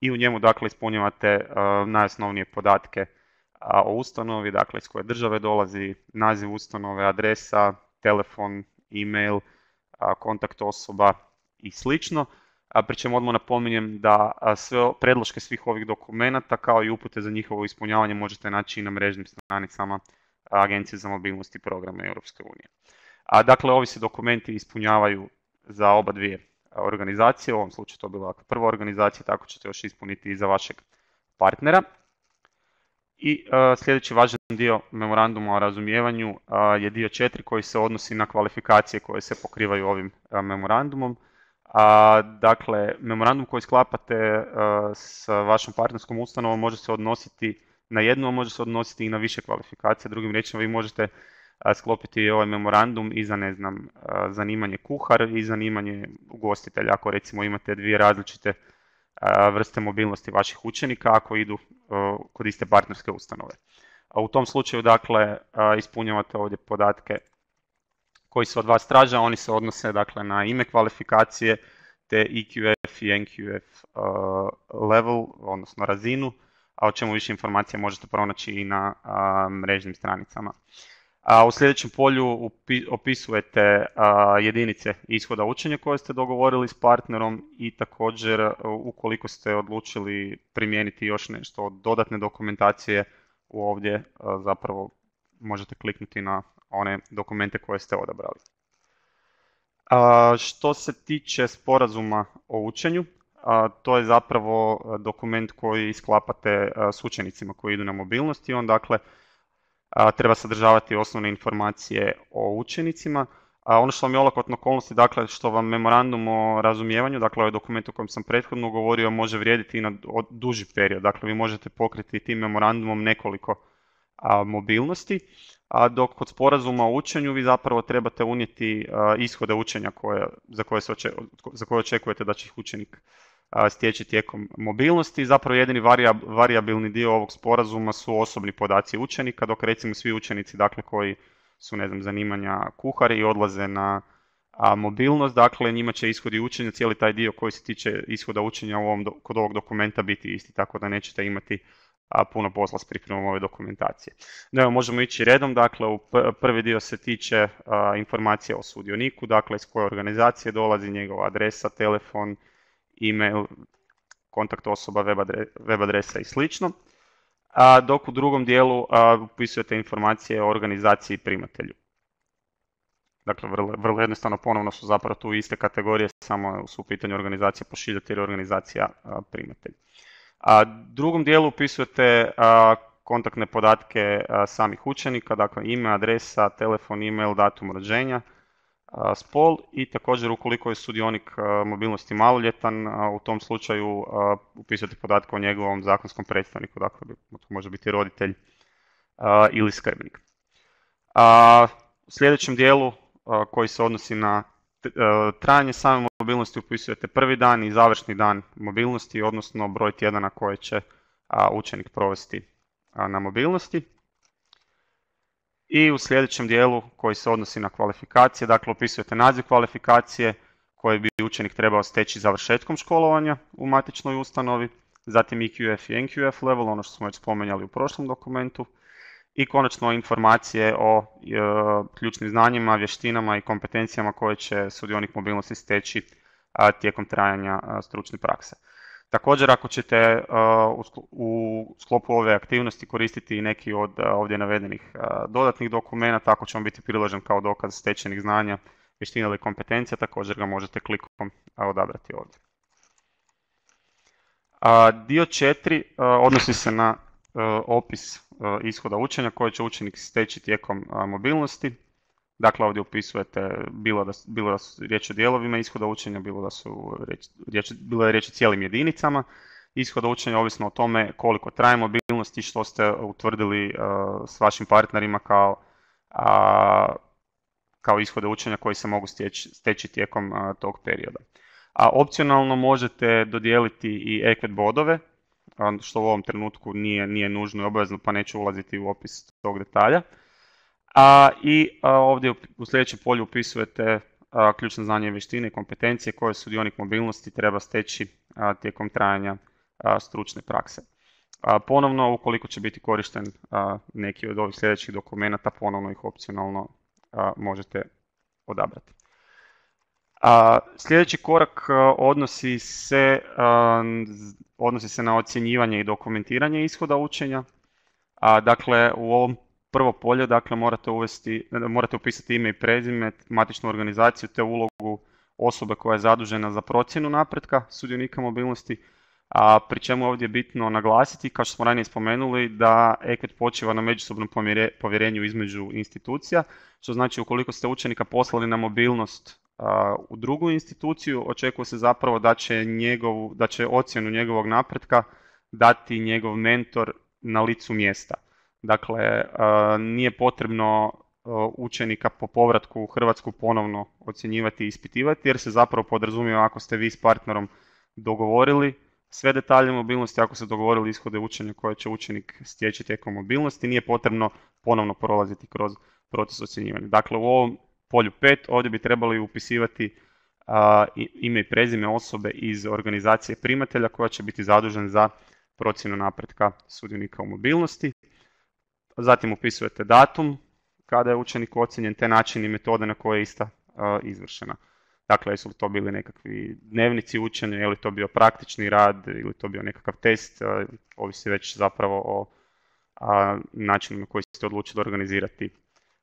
i u njemu dakle ispunjavate uh, najosnovnije podatke o ustanovi, dakle iz koje države dolazi, naziv ustanove, adresa, telefon, e-mail, kontakt osoba i slično. Pri čemu odmah napominjem da sve predloške svih ovih dokumenata kao i upute za njihovo ispunjavanje možete naći i na mrežnim stranicama Agencije za mobilnost i programe Europske unije. A dakle, ovi se dokumenti ispunjavaju za oba dvije organizacije, u ovom slučaju to je bila prva organizacija, tako ćete još ispuniti i za vašeg partnera. I uh, sljedeći važan dio memoranduma o razumijevanju uh, je dio četiri koji se odnosi na kvalifikacije koje se pokrivaju ovim uh, memorandumom. A, dakle, memorandum koji sklapate uh, s vašom partnerskom ustanovom može se odnositi na jednu, a može se odnositi i na više kvalifikacija. Drugim riječima, vi možete uh, sklopiti ovaj memorandum i za, ne znam, uh, zanimanje kuhar i zanimanje ugostitelja, ako recimo imate dvije različite uh, vrste mobilnosti vaših učenika, ako idu uh, kod iste partnerske ustanove. A u tom slučaju, dakle, uh, ispunjavate ovdje podatke koji se od vas traže, oni se odnose, dakle, na ime kvalifikacije te E Q F i N Q F uh, level, odnosno razinu, a o čemu više informacija možete pronaći i na uh, mrežnim stranicama. A u sljedećem polju upi, opisujete uh, jedinice ishoda učenja koje ste dogovorili s partnerom i također uh, ukoliko ste odlučili primijeniti još nešto od dodatne dokumentacije, ovdje uh, zapravo možete kliknuti na one dokumente koje ste odabrali. A, što se tiče sporazuma o učenju, a, to je zapravo dokument koji sklapate a, s učenicima koji idu na mobilnost i on, dakle, a, treba sadržavati osnovne informacije o učenicima. A ono što vam je olakotna okolnosti, dakle, što vam memorandum o razumijevanju, dakle ovaj dokument o kojem sam prethodno govorio, može vrijediti i na duži period. Dakle, vi možete pokriti tim memorandumom nekoliko a, mobilnosti, a dok kod sporazuma o učenju vi zapravo trebate unijeti a, ishode učenja koje, za, koje se oče, za koje očekujete da će ih učenik a, stječi tijekom mobilnosti. Zapravo jedini varijab, varijabilni dio ovog sporazuma su osobni podaci učenika, dok recimo svi učenici, dakle, koji su, ne znam, zanimanja kuhari i odlaze na a, mobilnost, dakle, njima će ishodi učenja, cijeli taj dio koji se tiče ishoda učenja u ovom, kod ovog dokumenta biti isti, tako da nećete imati a, puno posla s pripremom ove dokumentacije. Da, evo, možemo ići redom, dakle, u prvi dio se tiče a, informacije o sudioniku, dakle, iz koje organizacije dolazi, njegova adresa, telefon, e-mail, kontakt osoba, web, adre, web adresa i slično. A, dok u drugom dijelu a, upisujete informacije o organizaciji i primatelju. Dakle, vrlo, vrlo jednostavno, ponovno su zapravo tu iste kategorije, samo su u pitanju organizacija pošiljatelj i organizacija a, primatelj. A drugom dijelu upisujete a, kontaktne podatke a, samih učenika, dakle ime, adresa, telefon, e-mail, datum rođenja, a, spol i također ukoliko je sudionik a, mobilnosti maloljetan, a, u tom slučaju a, upisujete podatke o njegovom zakonskom predstavniku, dakle to može biti roditelj a, ili skrbnik. A, u sljedećem dijelu a, koji se odnosi na trajanje same mobilnosti upisujete prvi dan i završni dan mobilnosti, odnosno broj tjedana koje će a, učenik provesti a, na mobilnosti. I u sljedećem dijelu koji se odnosi na kvalifikacije, dakle upisujete naziv kvalifikacije koje bi učenik trebao steći završetkom školovanja u matičnoj ustanovi, zatim E Q F i N Q F level, ono što smo već spomenjali u prošlom dokumentu, i konačno informacije o e, ključnim znanjima, vještinama i kompetencijama koje će sudionik mobilnosti steći a, tijekom trajanja a, stručne prakse. Također, ako ćete a, u, u sklopu ove aktivnosti koristiti i neki od a, ovdje navedenih a, dodatnih dokumenata, ako će vam biti priložen kao dokaz stečenih znanja, vještina ili kompetencija, također ga možete klikom a, odabrati ovdje. A, dio četiri a, odnosi se na a, opis ishoda učenja koje će učenik steći tijekom a, mobilnosti. Dakle, ovdje upisujete bilo da, bilo da su riječ o dijelovima ishoda učenja, bilo da su riječ, riječ, bilo je riječ o cijelim jedinicama ishoda učenja, ovisno o tome koliko traje mobilnost i što ste utvrdili a, s vašim partnerima kao, a, kao ishode učenja koji se mogu steći, steći tijekom a, tog perioda. A opcionalno možete dodijeliti i E Q E D bodove, što u ovom trenutku nije, nije nužno i obavezno, pa neću ulaziti u opis tog detalja. A, I a, ovdje u sljedećem polju upisujete a, ključne znanje i vještine i kompetencije koje sudionik mobilnosti treba steći a, tijekom trajanja a, stručne prakse. A, ponovno, ukoliko će biti korišten a, neki od ovih sljedećih dokumenata, ponovno ih opcionalno a, možete odabrati. A, sljedeći korak a, odnosi se, a, odnosi se na ocjenjivanje i dokumentiranje ishoda učenja. A, dakle, u ovom prvo polje, dakle, morate uvesti, morate upisati ime i prezime, matičnu organizaciju te ulogu osobe koja je zadužena za procjenu napretka sudionika mobilnosti. A pri čemu ovdje je bitno naglasiti, kao što smo ranije spomenuli, da ekvet počiva na međusobnom povjerenju između institucija, što znači ukoliko ste učenika poslali na mobilnost a, u drugu instituciju, očekuje se zapravo da će, njegov, da će ocjenu njegovog napretka dati njegov mentor na licu mjesta. Dakle, a, nije potrebno a, učenika po povratku u Hrvatsku ponovno ocjenjivati i ispitivati, jer se zapravo podrazumijeva ako ste vi s partnerom dogovorili sve detalje mobilnosti, ako se dogovorili ishode učenja koje će učenik stječi tijekom mobilnosti, nije potrebno ponovno prolaziti kroz proces ocjenjivanja. Dakle, u ovom polju pet ovdje bi trebali upisivati a, ime i prezime osobe iz organizacije primatelja koja će biti zadužen za procjenu napretka sudionika u mobilnosti. Zatim upisujete datum kada je učenik ocjenjen, te način i metode na koje je ista a, izvršena. Dakle, jesu li to bili nekakvi dnevnici učenja, je li to bio praktični rad ili to bio nekakav test, ovisi već zapravo o a, načinu na koji ste odlučili organizirati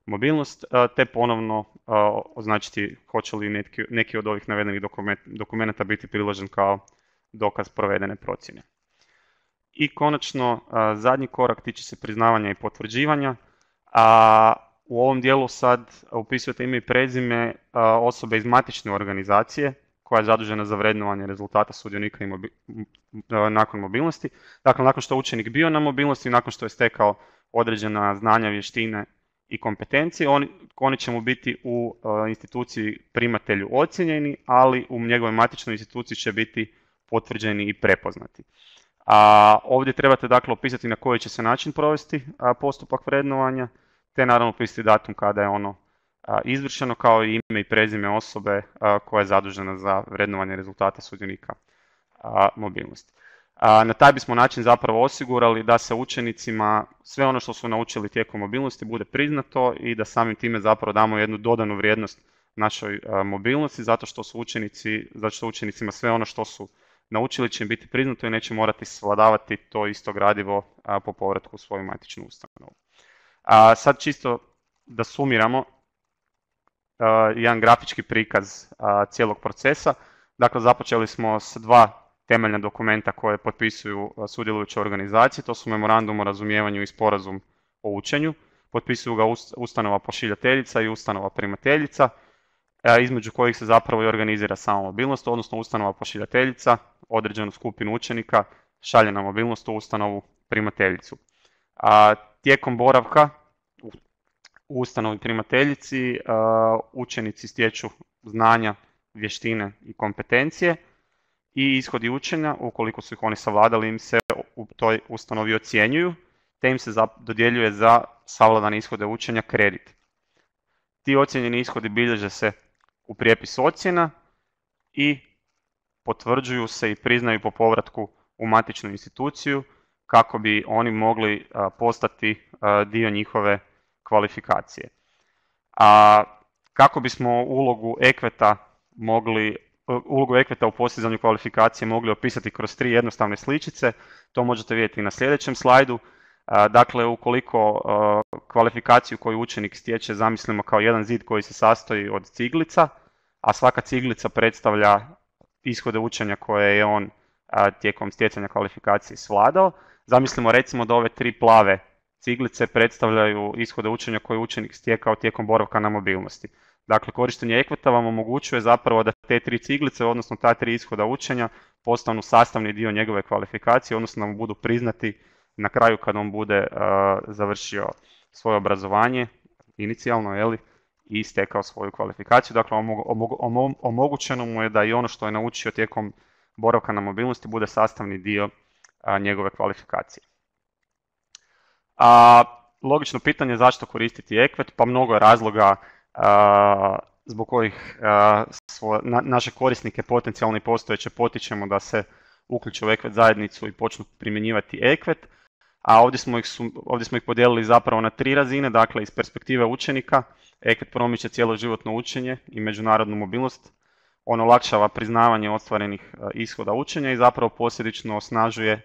mobilnost, a, te ponovno a, označiti hoće li neki, neki od ovih navedenih dokument, dokumenta biti priložen kao dokaz provedene procjene. I konačno, a, zadnji korak tiče se priznavanja i potvrđivanja, a u ovom dijelu sad upisujete ime i prezime osobe iz matične organizacije koja je zadužena za vrednovanje rezultata sudionika i mobi- nakon mobilnosti. Dakle, nakon što je učenik bio na mobilnosti, nakon što je stekao određena znanja, vještine i kompetencije, oni, oni će mu biti u instituciji primatelju ocjenjeni, ali u njegovoj matičnoj instituciji će biti potvrđeni i prepoznati. A ovdje trebate dakle opisati na koji će se način provesti postupak vrednovanja, te naravno upisati datum kada je ono a, izvršeno, kao i ime i prezime osobe a, koja je zadužena za vrednovanje rezultata sudionika a, mobilnosti. A, na taj bismo način zapravo osigurali da se učenicima sve ono što su naučili tijekom mobilnosti bude priznato i da samim time zapravo damo jednu dodanu vrijednost našoj a, mobilnosti, zato što su učenici, zato što učenicima sve ono što su naučili će im biti priznato i neće morati svladavati to isto gradivo a, po povratku u svoju matičnu ustanovu. A sad čisto da sumiramo uh, jedan grafički prikaz uh, cijelog procesa. Dakle, započeli smo s dva temeljna dokumenta koje potpisuju uh, sudjelujuće organizacije. To su memorandum o razumijevanju i sporazum o učenju. Potpisuju ga ust- ustanova pošiljateljica i ustanova primateljica, uh, između kojih se zapravo i organizira sama mobilnost, odnosno ustanova pošiljateljica određenu skupinu učenika šalje na mobilnost u ustanovu primateljicu. A tijekom boravka u ustanovi primateljici učenici stječu znanja, vještine i kompetencije i ishodi učenja, ukoliko su ih oni savladali, im se u toj ustanovi ocjenjuju, te im se dodjeljuje za savladane ishode učenja kredit. Ti ocjenjeni ishodi bilježe se u prijepis ocjena i potvrđuju se i priznaju po povratku u matičnu instituciju, kako bi oni mogli a, postati a, dio njihove kvalifikacije. A kako bismo ulogu ekveta mogli, ulogu ekveta u postizanju kvalifikacije mogli opisati kroz tri jednostavne sličice, to možete vidjeti na sljedećem slajdu. A, dakle, ukoliko a, kvalifikaciju koju učenik stječe zamislimo kao jedan zid koji se sastoji od ciglica, a svaka ciglica predstavlja ishode učenja koje je on a, tijekom stjecanja kvalifikacije svladao. Zamislimo recimo da ove tri plave ciglice predstavljaju ishode učenja koje je učenik stjekao tijekom boravka na mobilnosti. Dakle, korištenje ekveta vam omogućuje zapravo da te tri ciglice, odnosno ta tri ishoda učenja, postanu sastavni dio njegove kvalifikacije, odnosno da mu budu priznati na kraju kad on bude uh, završio svoje obrazovanje, inicijalno, jeli, i stekao svoju kvalifikaciju. Dakle, omogu, omogu, omogućeno mu je da i ono što je naučio tijekom boravka na mobilnosti bude sastavni dio a, njegove kvalifikacije. A, logično pitanje je zašto koristiti ekvet, pa mnogo je razloga a, zbog kojih a, svo, na, naše korisnike potencijalno i postojeće potičemo da se uključe u ekvet zajednicu i počnu primjenjivati ekvet. A ovdje smo, ih su, ovdje smo ih podijelili zapravo na tri razine, dakle iz perspektive učenika, ekvet promiče cjeloživotno učenje i međunarodnu mobilnost, on olakšava priznavanje ostvarenih ishoda učenja i zapravo posljedično osnažuje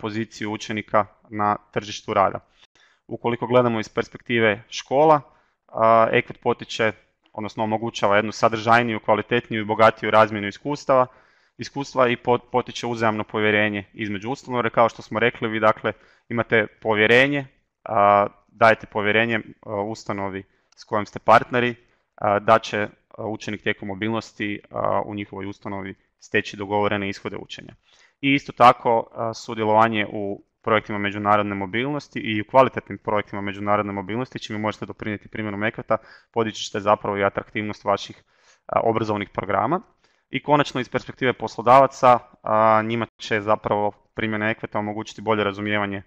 poziciju učenika na tržištu rada. Ukoliko gledamo iz perspektive škola, ekvet potiče, odnosno omogućava jednu sadržajniju, kvalitetniju i bogatiju razmjenu iskustava iskustva i potiče uzajamno povjerenje između ustanova, jer kao što smo rekli, vi dakle imate povjerenje, dajete povjerenje ustanovi s kojom ste partneri, da će učenik tijekom mobilnosti u njihovoj ustanovi steći dogovorene ishode učenja. I isto tako sudjelovanje u projektima međunarodne mobilnosti i u kvalitetnim projektima međunarodne mobilnosti, čime možete doprinijeti primjenom ekveta, podići ćete zapravo i atraktivnost vaših obrazovnih programa. I konačno iz perspektive poslodavaca, njima će zapravo primjena ekveta omogućiti bolje razumijevanje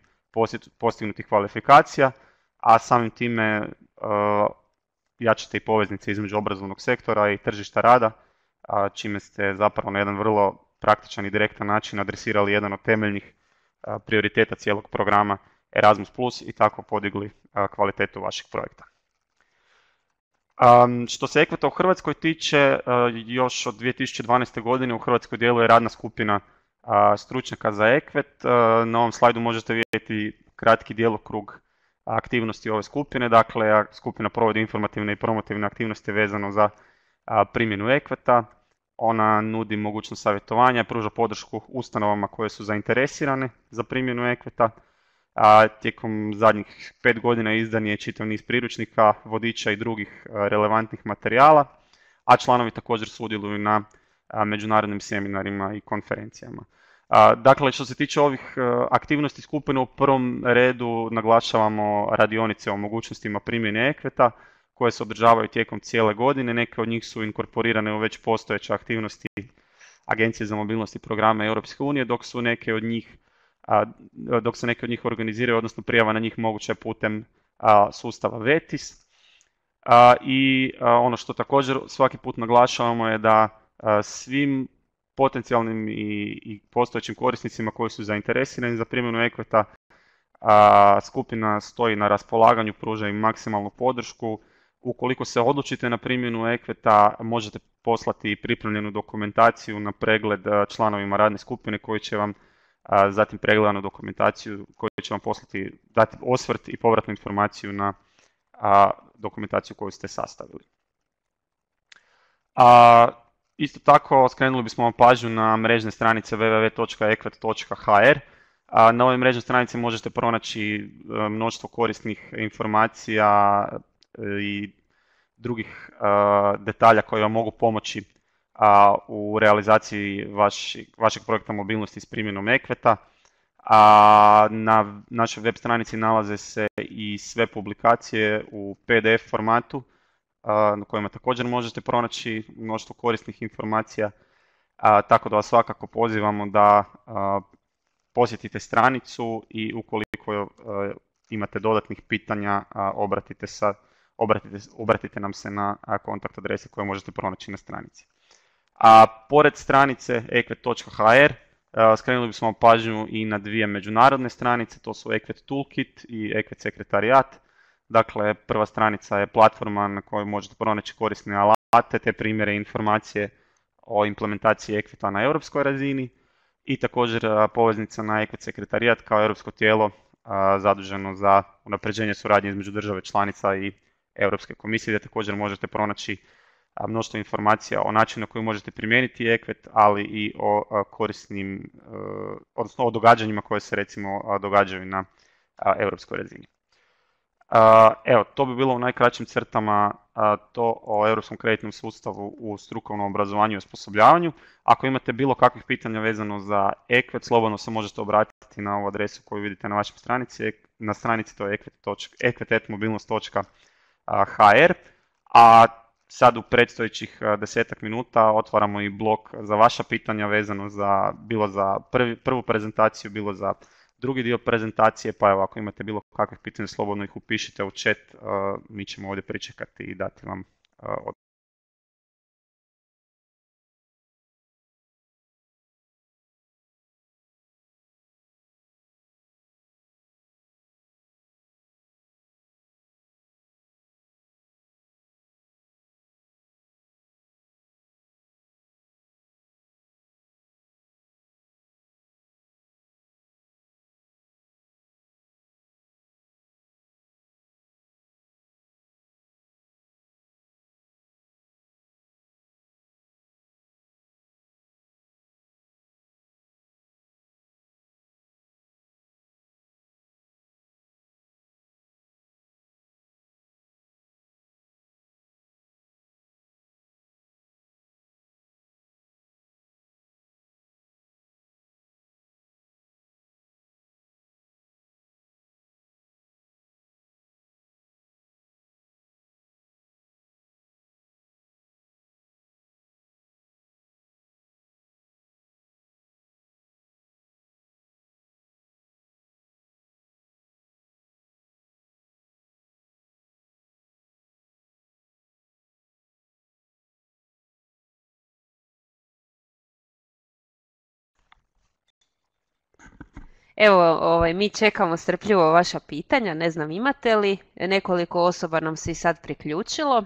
postignutih kvalifikacija, a samim time jačate i poveznice između obrazovnog sektora i tržišta rada, čime ste zapravo na jedan vrlo praktičan i direktan način adresirali jedan od temeljnih prioriteta cijelog programa Erasmus plus i tako podigli kvalitetu vašeg projekta. Um, što se ekveta u Hrvatskoj tiče, uh, još od dvije tisuće dvanaeste. godine u Hrvatskoj djeluje radna skupina uh, stručnjaka za ekvet. Uh, na ovom slajdu možete vidjeti kratki djelokrug aktivnosti ove skupine. Dakle, skupina provodi informativne i promotivne aktivnosti vezano za uh, primjenu ekveta. Ona nudi mogućnost savjetovanja, pruža podršku ustanovama koje su zainteresirane za primjenu ekveta. A tijekom zadnjih pet godina izdan je čitav niz priručnika, vodiča i drugih relevantnih materijala, a članovi također sudjeluju na međunarodnim seminarima i konferencijama. Dakle, što se tiče ovih aktivnosti skupine, u prvom redu naglašavamo radionice o mogućnostima primjene ekveta koje se održavaju tijekom cijele godine. Neke od njih su inkorporirane u već postojeće aktivnosti Agencije za mobilnost i programe Europske unije, dok su neke od njih A, dok se neke od njih organiziraju, odnosno prijava na njih moguće putem a, sustava VETIS. A, I a, ono što također svaki put naglašavamo je da a, svim potencijalnim i, i postojećim korisnicima koji su zainteresirani za primjenu ekveta, a, skupina stoji na raspolaganju, pruža im maksimalnu podršku. Ukoliko se odlučite na primjenu ekveta, možete poslati pripremljenu dokumentaciju na pregled članovima radne skupine koji će vam a zatim pregledanu dokumentaciju koju će vam poslati, dati osvrt i povratnu informaciju na a, dokumentaciju koju ste sastavili. A, isto tako skrenuli bismo vam pažnju na mrežne stranice w w w točka ekvet točka h r. A, na ovoj mrežnoj stranici možete pronaći mnoštvo korisnih informacija i drugih a, detalja koji vam mogu pomoći A, u realizaciji vaš, vašeg projekta mobilnosti s primjenom ekveta. A na našoj web stranici nalaze se i sve publikacije u P D F formatu a, na kojima također možete pronaći mnoštvo korisnih informacija, a, tako da vas svakako pozivamo da a, posjetite stranicu i ukoliko a, imate dodatnih pitanja, a, obratite, sa, obratite, obratite nam se na a, kontakt adrese koje možete pronaći na stranici. A pored stranice ekvet točka h r skrenuli bismo pažnju i na dvije međunarodne stranice, to su Ekvet Toolkit i Ekvet Sekretarijat. Dakle, prva stranica je platforma na kojoj možete pronaći korisne alate te primjere i informacije o implementaciji ekveta na europskoj razini i također poveznica na Ekvet Sekretarijat kao europsko tijelo zaduženo za unapređenje suradnje između države članica i Europske komisije, gdje također možete pronaći mnoštvo informacija o načinu na koji možete primijeniti ekvet, ali i o korisnim, odnosno o događanjima koje se recimo događaju na europskoj razini. Evo, to bi bilo u najkraćim crtama to o europskom kreditnom sustavu u strukovnom obrazovanju i osposobljavanju. Ako imate bilo kakvih pitanja vezano za ekvet, slobodno se možete obratiti na ovu adresu koju vidite na vašoj stranici. Na stranici to je ekvet et mobilnost točka h r, a sad u predstojećih desetak minuta otvaramo i blok za vaša pitanja vezano za, bilo za prvi, prvu prezentaciju, bilo za drugi dio prezentacije, pa evo ako imate bilo kakvih pitanja slobodno ih upišite u chat, mi ćemo ovdje pričekati i dati vam odgovor. Evo, ovaj, mi čekamo strpljivo vaša pitanja, ne znam imate li, nekoliko osoba nam se i sad priključilo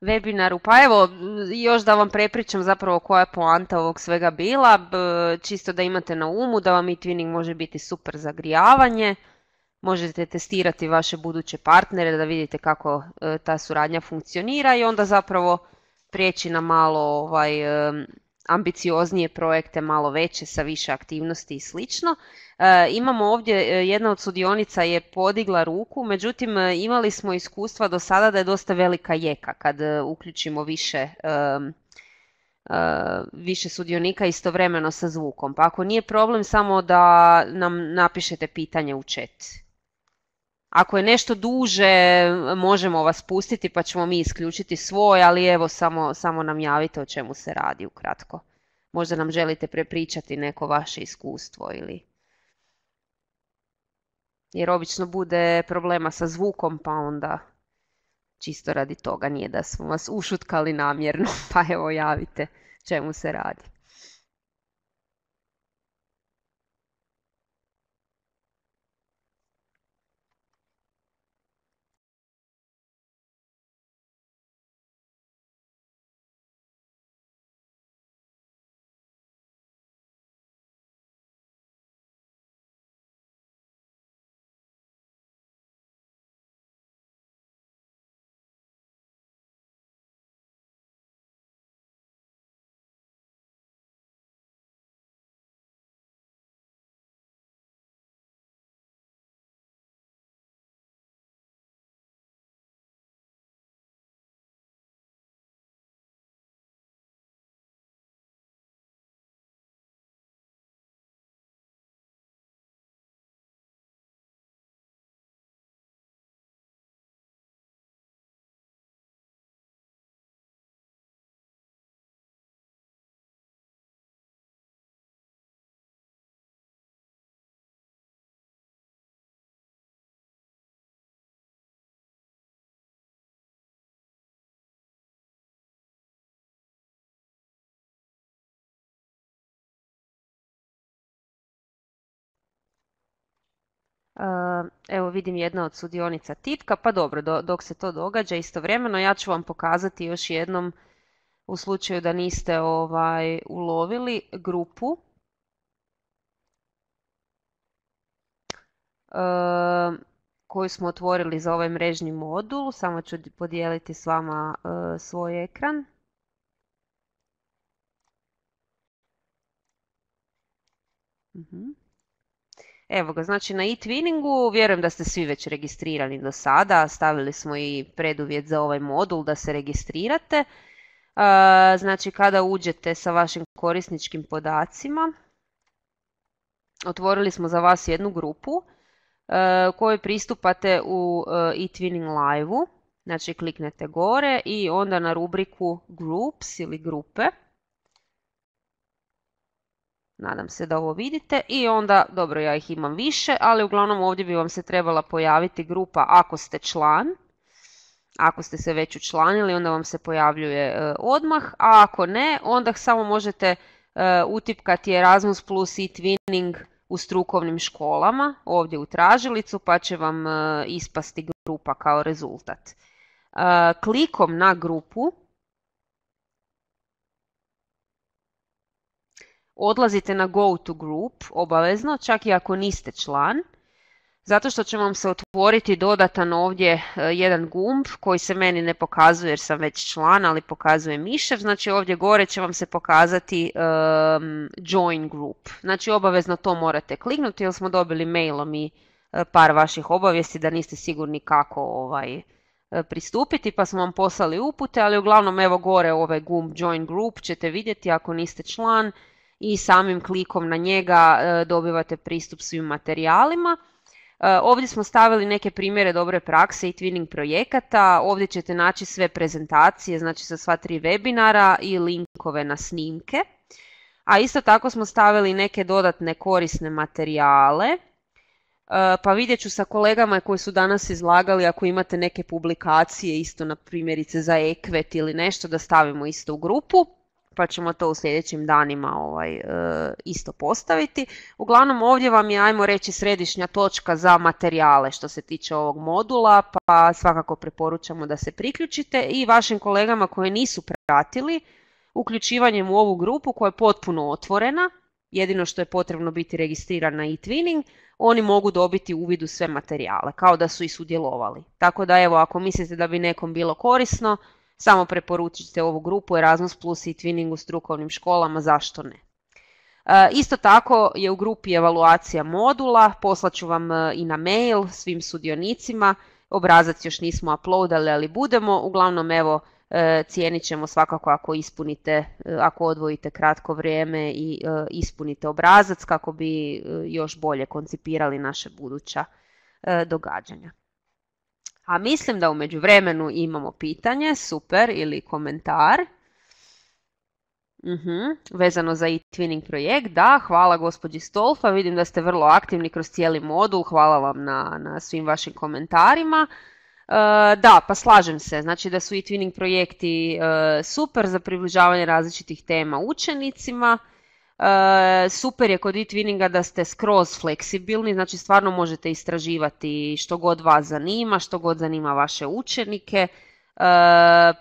webinaru. Pa evo, još da vam prepričam zapravo koja je poanta ovog svega bila, čisto da imate na umu da vam e-twinning može biti super zagrijavanje, možete testirati vaše buduće partnere da vidite kako ta suradnja funkcionira i onda zapravo prijeći na malo ovaj, ambicioznije projekte, malo veće sa više aktivnosti i slično. E, imamo ovdje, jedna od sudionica je podigla ruku, međutim imali smo iskustva do sada da je dosta velika jeka kad uključimo više, e, e, više sudionika istovremeno sa zvukom. Pa ako nije problem, samo da nam napišete pitanje u chat. Ako je nešto duže, možemo vas pustiti pa ćemo mi isključiti svoj, ali evo samo, samo nam javite o čemu se radi ukratko. Možda nam želite prepričati neko vaše iskustvo ili... Jer obično bude problema sa zvukom pa onda čisto radi toga, nije da smo vas ušutkali namjerno, pa evo javite čemu se radi. Evo vidim jedna od sudionica tipka, pa dobro, do, dok se to događa istovremeno ja ću vam pokazati još jednom u slučaju da niste ovaj, ulovili grupu. E, koju smo otvorili za ovaj mrežni modul, samo ću podijeliti s vama e, svoj ekran. Uh-huh. Evo ga, znači na e-twinningu, vjerujem da ste svi već registrirani do sada, stavili smo i preduvjet za ovaj modul da se registrirate. Znači kada uđete sa vašim korisničkim podacima, otvorili smo za vas jednu grupu kojoj pristupate u e-twinning live-u, znači kliknete gore i onda na rubriku groups ili grupe. Nadam se da ovo vidite i onda, dobro ja ih imam više, ali uglavnom ovdje bi vam se trebala pojaviti grupa ako ste član. Ako ste se već učlanili onda vam se pojavljuje e, odmah, a ako ne onda samo možete e, utipkati Erasmus plus e-twinning u strukovnim školama ovdje u tražilicu pa će vam e, ispasti grupa kao rezultat. E, klikom na grupu odlazite na go to group obavezno, čak i ako niste član, zato što će vam se otvoriti dodatan ovdje jedan gumb koji se meni ne pokazuje jer sam već član, ali pokazuje mišev. Znači ovdje gore će vam se pokazati um, join group. Znači obavezno to morate kliknuti jer smo dobili mailom i par vaših obavijesti da niste sigurni kako ovaj, pristupiti pa smo vam poslali upute, ali uglavnom evo gore ovaj gumb join group ćete vidjeti ako niste član i samim klikom na njega dobivate pristup svim materijalima. Ovdje smo stavili neke primjere dobre prakse i twinning projekata. Ovdje ćete naći sve prezentacije, znači sa sva tri webinara i linkove na snimke. A isto tako smo stavili neke dodatne korisne materijale. Pa vidjet ću sa kolegama koji su danas izlagali ako imate neke publikacije isto na primjerice za ekvet ili nešto da stavimo isto u grupu. pa ćemo to u sljedećim danima ovaj, e, isto postaviti. Uglavnom ovdje vam je, ajmo reći, središnja točka za materijale što se tiče ovog modula, pa svakako preporučamo da se priključite i vašim kolegama koji nisu pratili uključivanjem u ovu grupu koja je potpuno otvorena, jedino što je potrebno biti registriran na eTwinning, oni mogu dobiti uvid u sve materijale, kao da su i sudjelovali. Tako da evo, ako mislite da bi nekom bilo korisno, samo preporučite ovu grupu Erasmus plus i eTwinning u strukovnim školama, zašto ne. E, isto tako je u grupi evaluacija modula, poslaću vam i na mail svim sudionicima, obrazac još nismo uploadali, ali budemo, uglavnom evo, cijenit ćemo svakako ako ispunite, ako odvojite kratko vrijeme i ispunite obrazac kako bi još bolje koncipirali naše buduća događanja. A mislim da u međuvremenu imamo pitanje, super, ili komentar. Uhum. Vezano za eTwinning projekt, da, hvala gospođi Stolfa, vidim da ste vrlo aktivni kroz cijeli modul, hvala vam na, na svim vašim komentarima. Uh, da, pa slažem se, znači da su eTwinning projekti uh, super za približavanje različitih tema učenicima. Uh, super je kod eTwinninga da ste skroz fleksibilni, znači stvarno možete istraživati što god vas zanima, što god zanima vaše učenike. Uh,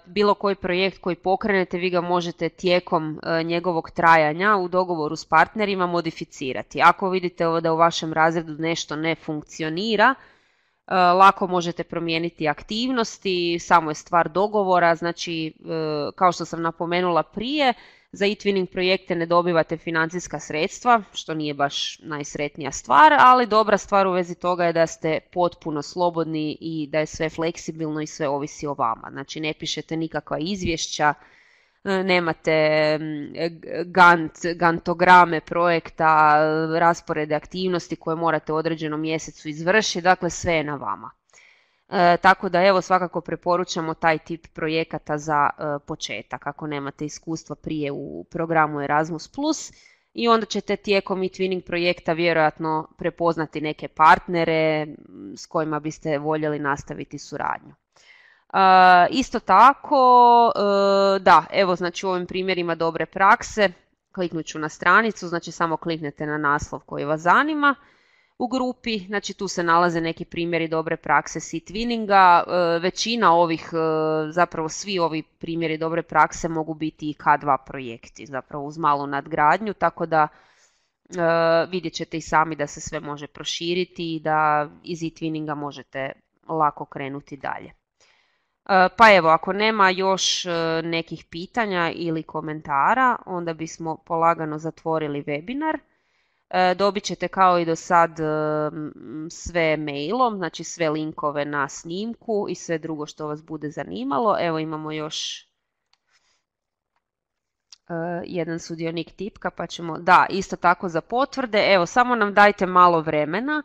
bilo koji projekt koji pokrenete, vi ga možete tijekom uh, njegovog trajanja u dogovoru s partnerima modificirati. Ako vidite da u vašem razredu nešto ne funkcionira, lako možete promijeniti aktivnosti, samo je stvar dogovora, znači kao što sam napomenula prije, za eTwinning projekte ne dobivate financijska sredstva, što nije baš najsretnija stvar, ali dobra stvar u vezi toga je da ste potpuno slobodni i da je sve fleksibilno i sve ovisi o vama. Znači ne pišete nikakva izvješća, nemate gant, gantograme projekta, rasporede aktivnosti koje morate u određenom mjesecu izvršiti, dakle sve je na vama. E, tako da evo svakako preporučamo taj tip projekata za e, početak ako nemate iskustva prije u programu Erasmus plus, i onda ćete tijekom eTwinning projekta vjerojatno prepoznati neke partnere s kojima biste voljeli nastaviti suradnju. Uh, isto tako, uh, da, evo znači u ovim primjerima dobre prakse, kliknut ću na stranicu, znači samo kliknete na naslov koji vas zanima u grupi, znači tu se nalaze neki primjeri dobre prakse s eTwinninga, uh, većina ovih, uh, zapravo svi ovi primjeri dobre prakse mogu biti i K dva projekti, zapravo uz malu nadgradnju, tako da uh, vidjet ćete i sami da se sve može proširiti i da iz eTwinninga možete lako krenuti dalje. Pa evo, ako nema još nekih pitanja ili komentara, onda bismo polagano zatvorili webinar. Dobit ćete kao i do sad sve mailom, znači sve linkove na snimku i sve drugo što vas bude zanimalo. Evo imamo još jedan sudionik tipka, pa ćemo, da, isto tako za potvrde. Evo, samo nam dajte malo vremena.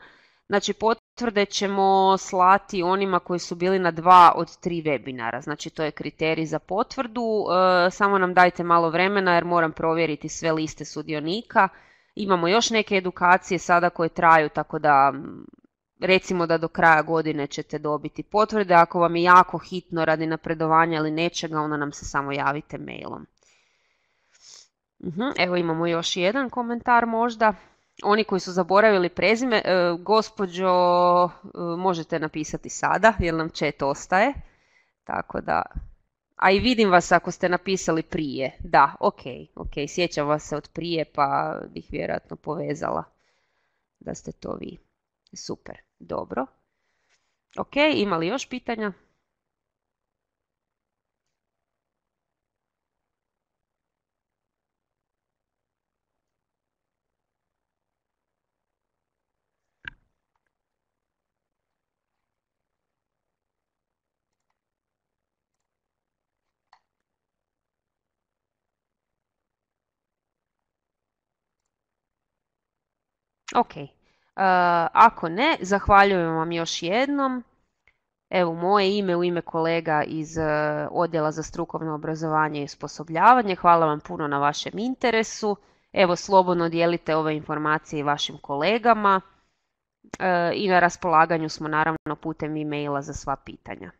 Znači potvrde ćemo slati onima koji su bili na dva od tri webinara, znači to je kriterij za potvrdu, e, samo nam dajte malo vremena jer moram provjeriti sve liste sudionika. Imamo još neke edukacije sada koje traju, tako da recimo da do kraja godine ćete dobiti potvrde. Ako vam je jako hitno radi napredovanja ili nečega, onda nam se samo javite mailom. Uhum, evo imamo još jedan komentar možda. Oni koji su zaboravili prezime, e, gospođo, e, možete napisati sada jer nam chat ostaje. Tako da, a i vidim vas ako ste napisali prije. Da, ok, ok, sjećam vas se od prije pa bih vjerojatno povezala da ste to vi. Super, dobro. Ok, ima li još pitanja? Ok, uh, ako ne, zahvaljujem vam još jednom. Evo moje ime u ime kolega iz uh, Odjela za strukovno obrazovanje i osposobljavanje. Hvala vam puno na vašem interesu. Evo slobodno dijelite ove informacije i vašim kolegama uh, i na raspolaganju smo naravno putem e-maila za sva pitanja.